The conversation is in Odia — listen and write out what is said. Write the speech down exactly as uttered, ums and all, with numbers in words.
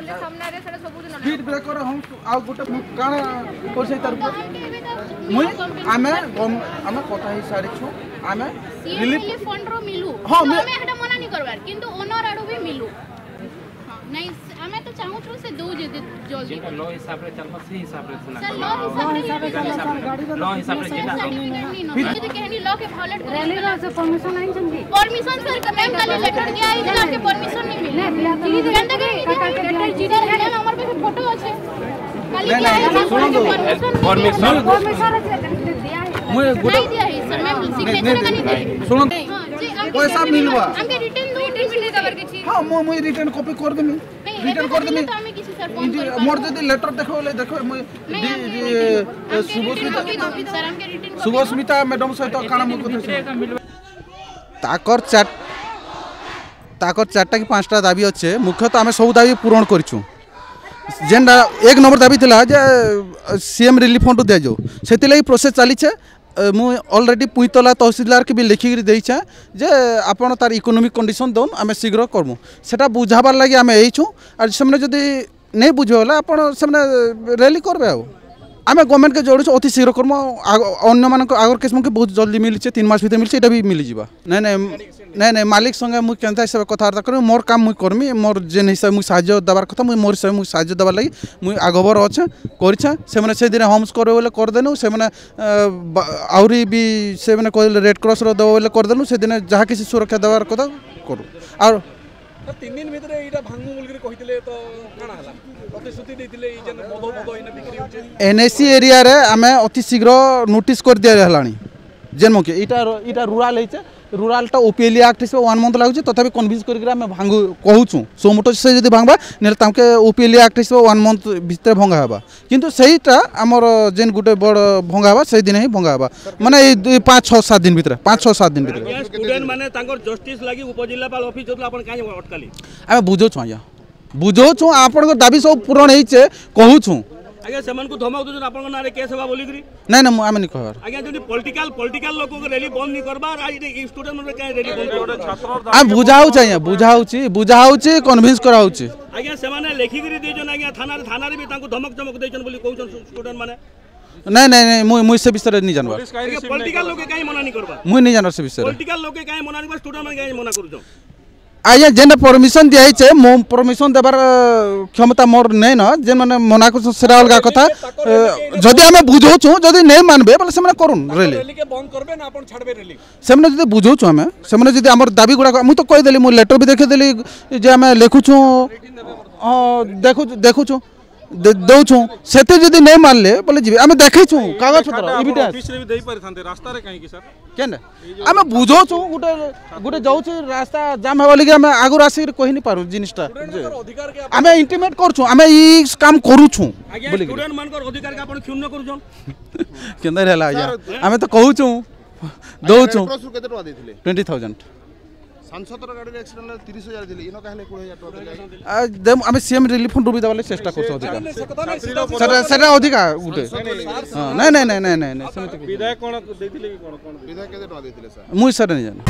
ସ୍ପିଡ୍ ବ୍ରେକର ହଉ ଆଉ ଗୋଟେ ମୁଁ କାଣା କରିସାରି ତାର ମୁଇଁ ଆମେ ଆମେ କଥା ହେଇ ସାରିଛୁ ଆମେ ରିଲିଫ ଫଣ୍ଡ ର ମିଲୁ ହଁ ଆମେ ହେଟା ମନା ନି କରବାର କିନ୍ତୁ ଓନର ଆଡୁ ବି ମିଲୁ ହଁ ନାଇଁ ଆମେ ତ ଚାହୁଁଛୁ ସେ ଦଉ ଯଦି ଜଲ୍ଦି ଯେଟା ଲ ହିସାବରେ ଚାଲବା ସେ ହିସାବରେ ସିନା ଲ ହିସାବରେ ଲ ହିସାବରେ ଯେଟା ଯଦି କେହନି ଲ କେ ଭାয়োଲେଟ ରैली ର ସେ परमिशन ଆଣିଛନ୍ତି परमिशन सर मैम କାଲି ଲେଟର ଦିଆ ହେଇଥିଲା ଆମକେ परमिशन ନି ମିଲେ କେନ୍ତା କରି ଲେଟର ଜିରା ମ୍ୟାମ୍ ଆମର ପାଖେ ଫଟୋ ଅଛି କାଲି ଦିଆ ହେଇଥିଲା परमिशन परमिशन ଦିଆ ମୁଇଁ ଗୋଟେ ନାଇଁ ଦିଆ ହେଇ सर मैम सिग्नेचर କାନି ଦେଲି ଶୁଣନ୍ତୁ ପଇସା ମିଲବା ଆମକେ ରିଟର୍ନ ଦଉ ମିଲେ ଦବାର କିଛି ହଁ ମୁଁ ମୁଇଁ ରିଟର୍ନ କପି କରିଦେମି ରିଟର୍ନ କରିଦେମି ତ ଆମେ କିଛି सर ଫୋନ କରି ମୋର ଯଦି ଲେଟର ଦେଖ ବୋଲେ ଦେଖ ମୁଇଁ ଶୁଭସ୍ମିତା सर ଆମକେ ରିଟର୍ନ ଶୁଭସ୍ମିତା ମ୍ୟାଡମ୍ ସହିତ କାଣା ମୁଁ କଥା ତାକର ଚାର ତାକର ଚାରିଟା କି ପାଞ୍ଚଟା ଦାବି ଅଛେ ମୁଖ୍ୟତଃ ଆମେ ସବୁ ଦାବି ପୂରଣ କରିଛୁ ଯେନ୍ଟା ଏକ ନମ୍ବର ଦାବି ଥିଲା ଯେ ସିଏମ୍ ରିଲିଫ ଫଣ୍ଡ ଦିଆଯାଉ ସେଥିଲାଗି ପ୍ରୋସେସ୍ ଚାଲିଛେ ମୁଁ ଅଲରେଡ଼ି ପୁଇତଲା ତହସିଲଦାରକେ ବି ଲେଖିକିରି ଦେଇଛେ ଯେ ଆପଣ ତାର ଇକୋନୋମିକ୍ କଣ୍ଡିସନ୍ ଦଉନ୍ ଆମେ ଶୀଘ୍ର କରମୁ ସେଟା ବୁଝାବାର ଲାଗି ଆମେ ଏଇଛୁ ଆର୍ ସେମାନେ ଯଦି ନେଇ ବୁଝିବେ ବୋଲେ ଆପଣ ସେମାନେ ର୍ୟାଲି କରବେ ଆଉ ଆମେ ଗଭର୍ଣ୍ଣମେଣ୍ଟକେ ଯୋଡ଼ୁଛୁ ଅତି ଶୀଘ୍ର କର୍ମୁ ଅନ୍ୟମାନଙ୍କ ଆଗର କେସ୍ମକେ ବହୁତ ଜଲ୍ଦି ମିଳିছে ତିନି ମାସ ଭିତରେ ମିଳିছে ଏଇଟା ବି ମିଳିଯିବା ନାଇଁ ନାଇଁ ନାଇଁ ନାଇଁ ମାଲିକ ସଙ୍ଗେ ମୁଇଁ କେନ୍ତା ହିସାବରେ କଥାବାର୍ତ୍ତା କରିବି ମୋର୍ କାମ ମୁଇଁ କର୍ମି ମୋର୍ ଯେନ୍ ହିସାବେ ମୁଇଁ ସାହାଯ୍ୟ ଦେବାର କଥା ମୁଇଁ ମୋର୍ ହିସାବେ ମୁଇଁ ସାହାଯ୍ୟ ଦେବାର ଲାଗି ମୁଇଁ ଆଗଭର ଅଛେ କରିଛେ ସେମାନେ ସେଦିନ ହୋମ୍ସ କରିବେ ବୋଲେ କରିଦେନୁ ସେମାନେ ଆହୁରି ବି ସେମାନେ କହିଲେ ରେଡ୍ କ୍ରସ୍ର ଦେବ ବୋଲେ କରିଦେନୁ ସେଦିନ ଯାହା କିଛି ସୁରକ୍ଷା ଦେବାର କଥା କରୁ ଆଉ ତିନି ଦିନ ଭିତରେ ଏଇଟା ଭାଙ୍ଗୁ ବୋଲିକିରି କହିଥିଲେ ତ କାଣା ହେଲା ପ୍ରତିଶ୍ରୁତି ଦେଇଥିଲେ ଏଇ ଯେନ୍ ମଦ ମଦ ଏଇନେ ବିକ୍ରି ହଉଛି ଏନ୍ଏସି ଏରିଆରେ ଆମେ ଅତି ଶୀଘ୍ର ନୋଟିସ୍ କରିଦିଆ ହେଲାଣି ଯେନ୍ ମକେ ଏଇଟା ଏଇଟା ରୁରାଲ ହେଇଛେ ରୁରାଲଟା ଓପିଏଲି ଆକ୍ଟ ହିସାବେ ୱାନ୍ ମନ୍ଥ ଲାଗୁছে ତଥାପି କନଭିନ୍ସ କରିକି ଆମେ ଭାଙ୍ଗୁ କହୁଛୁ ସୁମୋଟୋ ସେ ଯଦି ଭାଙ୍ଗବା ନହେଲେ ତାଙ୍କେ ଓପିଏଲି ଆକ୍ଟ ହିସାବେ ୱାନ୍ ମନ୍ଥ ଭିତରେ ଭଙ୍ଗା ହେବା କିନ୍ତୁ ସେଇଟା ଆମର ଯେନ୍ ଗୋଟେ ବଡ଼ ଭଙ୍ଗା ହେବା ସେଇ ଦିନ ହିଁ ଭଙ୍ଗା ହେବା ମାନେ ଏଇ ଦୁଇ ପାଞ୍ଚ ଛଅ ସାତ ଦିନ ଭିତରେ ପାଞ୍ଚ ଛଅ ସାତ ଦିନ ଭିତରେ ଷ୍ଟୁଡେଣ୍ଟ ମାନେ ତାଙ୍କର ଜଷ୍ଟିସ ଲାଗି ଉପଜିଲ୍ଲାପାଳ ଅଫିସ ଯାଉଥିଲେ ଆପଣ କାହିଁ ଅଟକାଲି ଆମେ ବୁଝଉଛୁ ଆଜ୍ଞା ବୁଝଉଛୁ ଆପଣଙ୍କ ଦାବି ସବୁ ପୂରଣ ହେଇଛେ କହୁଛୁ ଆଜ୍ଞା ସେମାନଙ୍କୁ ଧମକ ଦଉଛନ୍ତି ଆପଣଙ୍କ ନାଁରେ କେସ୍ ହେବା ବୋଲିକିରି ନାଇଁ ନାଇଁ ମୁଁ ଆମେ ନି କହିବାର ଆଜ୍ଞା ଯଦି ପଲିଟିକାଲ ପଲିଟିକାଲ ଲୋକଙ୍କ ର୍ୟାଲି ବନ୍ଦ ନି କରବାର ଆଜି ଏଇ ଷ୍ଟୁଡେଣ୍ଟ ମାନେ କାହିଁ ର୍ୟାଲି ବନ୍ଦ କରବାର ଆମେ ବୁଝା ହଉଛି ଆଜ୍ଞା ବୁଝା ହଉଛି ବୁଝା ହଉଛି କନଭିନ୍ସ କରାହଉଛି ଆଜ୍ଞା ସେମାନେ ଲେଖିକିରି ଦେଇଛନ୍ ଆଜ୍ଞା ଥାନାରେ ଥାନାରେ ବି ତାଙ୍କୁ ଧମକ ଚମକ ଦେଇଛନ୍ ବୋଲି କହୁଛନ୍ ଷ୍ଟୁଡେଣ୍ଟ ମାନେ ନାଇଁ ନାଇଁ ନାଇଁ ମୁଇଁ ମୁଇଁ ସେ ବିଷୟରେ ନି ଜାନବାର ଆଜ୍ଞା ପଲିଟିକାଲ ଲୋକେ କାହିଁ ମନା ନି କରବାର ମୁଇଁ ନି ଜାନବାର ସେ ବିଷୟରେ ପଲିଟିକାଲ ଲୋକେ କାହିଁ ମନା ନି କରବାର ଷ୍ଟୁଡେଣ୍ଟ ମାନେ କାହିଁ ମନା କରୁଛନ୍ ଆଜ୍ଞା ଯେନ୍ଟା ପରମିଶନ ଦିଆହେଇଛେ ମୋ ପରମିଶନ ଦେବାର କ୍ଷମତା ମୋର ନେଇ ନ ଯେନ୍ ମାନେ ମନା କରୁଛନ୍ ସେଟା ଅଲଗା କଥା ଯଦି ଆମେ ବୁଝଉଛୁ ଯଦି ନେଇ ମାନବେ ବୋଲେ ସେମାନେ କରୁନ୍ ରେଲି ର୍ୟାଲିକେ ବନ୍ଦ କରବେ ନା ଆପଣ ଛାଡ଼ବେ ର୍ୟାଲି ସେମାନେ ଯଦି ବୁଝଉଛୁ ଆମେ ସେମାନେ ଯଦି ଆମର ଦାବି ଗୁଡ଼ାକ ମୁଁ ତ କହିଦେଲି ମୁଁ ଲେଟର ବି ଦେଖେଇଦେଲି ଯେ ଆମେ ଲେଖୁଛୁ ହଁ ଦେଖୁଛୁ ଦେଖୁଛୁ ଦଉଛୁ ସେତେ ଯଦି ନେଇ ମାନିଲେ ବୋଲେ ଯିବେ ଆମେ ଦେଖେଇଛୁ କାଗଜ ପତ୍ର ଇଭିଡେନ୍ସ ଅଫିସରେ ବି ଦେଇ ପାରିଥାନ୍ତେ ରାସ୍ତାରେ କାହିଁକି ସାର୍ କେନ୍ ଆମେ ବୁଝଉଛୁ ଗୋଟେ ଗୋଟେ ଯାଉଛି ରାସ୍ତା ଜାମ୍ ହେବା ଲାଗି ଆମେ ଆଗରୁ ଆସିକି କହି ନି ପାରୁ ଜିନିଷଟା ଅଧିକାର କେ ଆମେ ଇଣ୍ଟିମେଟ୍ କରୁଛୁ ଆମେ ଇ କାମ କରୁଛୁ ଆଜ୍ଞା ଷ୍ଟୁଡେଣ୍ଟ ମାନଙ୍କର ଅଧିକାର କେ ଆପଣ କ୍ଷୁଣ୍ଣ କରୁଛନ୍ କେନ୍ତା ହେଲା ଆଜ୍ଞା ଆମେ ତ କହୁଛୁ ଦଉଛୁ କେତେ ଟଙ୍କା ଦେଇଥିଲେ ଟ୍ୱେଣ୍ଟି ଥାଉଜେଣ୍ଡ ସାଂସଦର ଗାଡ଼ିରେ ଆକ୍ସିଡେଣ୍ଟ ହେଲା ତିରିଶ ହଜାର ଦେଲେ ଇନ କାହେଲେ କୋଡ଼ିଏ ହଜାର ଟଙ୍କା ଦେଲେ ଆମେ ସିଏମ୍ ରିଲିଫ ଫଣ୍ଡରୁ ବି ଦେବାର ଚେଷ୍ଟା କରୁଛୁ ଅଧିକା ସେଟା ସେଟା ଅଧିକା ଗୋଟେ ହଁ ନାଇଁ ନାଇଁ ନାଇଁ ନାଇଁ ନାଇଁ ନାଇଁ ସେମିତି ବିଧାୟକ କ'ଣ ଦେଇଥିଲେ କି କ'ଣ କ'ଣ ବିଧାୟକ କେତେ ଟଙ୍କା ଦେଇଥିଲେ ସାର୍ ମୁଇଁ ସେଟା ନେଇ ଜାନେ।